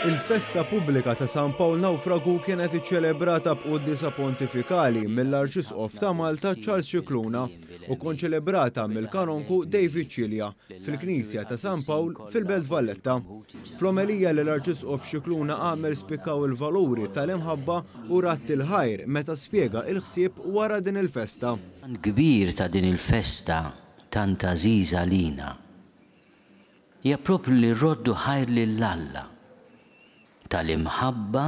Il-festa pubblika ta' San Pawl Nawfragu kienet iċċelebrata b'quddiesa pontifikali mill-Arċisqof ta' Malta Charles Scicluna u konċelebrata mill-Kanonku David Cilia fil-Knisja ta' San Pawl fil-Belt Valletta. Fl-omelija li l-Arċisqof Scicluna għamel spikkaw il-valuri tal-imħabba u radd il-ħajr meta spjega il-ħsieb wara din il-festa. L-għan kbir ta' din il-festa tant għażiża għalina hija proprju li rroddu ħajr lil Alla tal-imħabba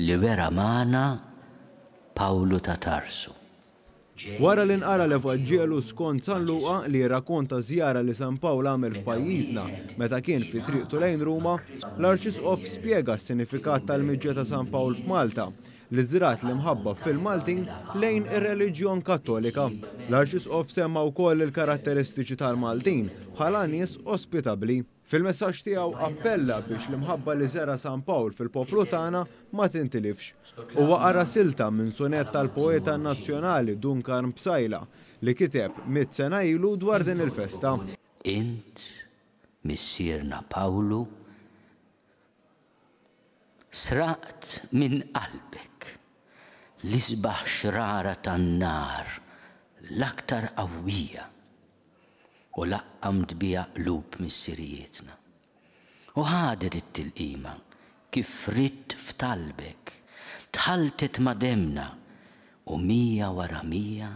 li wera magħna Pawlu ta' Tarsu. Wara li nqara l-Evanġelu skont San Luqa li jirrakkonta żjara li San Pawl għamel f'pajjiżna meta kien fi triqtu lejn Ruma, l-Arċisqof spjega s-sinifikat tal-miġja ta' San Pawl f'Malta li żrgħet l-imħabba fil-Maltin lejn ir-reliġjon Kattolika. L-Arċisqof semma wkoll il-karatteristiċi tal-Maltin bħala nies ospitabbli. Fil-messaġġ tiegħu appella biex l-imħabba li żera' San Pawl fil-poplu tagħna ma tintilifx. Huwa qara silta minn sunett tal-poeta nazzjonali Dun Karm Psaila li kiteb mitt sena ilu dwar din il-festa. Int, missierna Pawlu, Sraqt minn qalbek l-isbaħ xrara tan-nar l-aktar qawwija u laqqamt biha qlub missirijietna. U ħadet it-tilqima kif ridt f'talbek, tħalltet ma' demmna u mija wara mija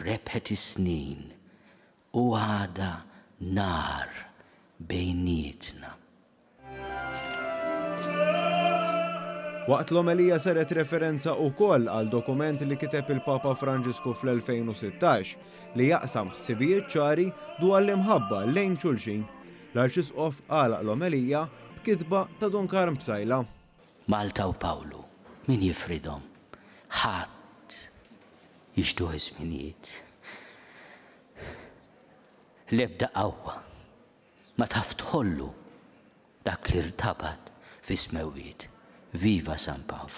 rebħet is-snin u għadha nar bejnietna. Waqt l-omelija saret referenza ukoll għal dokument li kiteb il-Papa Franġisku fl-2016 li jaqsam ħsibijiet ċari dwar l-imħabba lejn xulxin. L-Arċisqof għalaq l-omelija b'kitba ta' Dun Karm Psaila. Malta u Pawlu, min jifridhom? Ħadd! Jixduh iż-żminijiet. L-ebda qawwa Ma taf tħollu dak li rtabat fis-smewwiet. Viva San Pawl!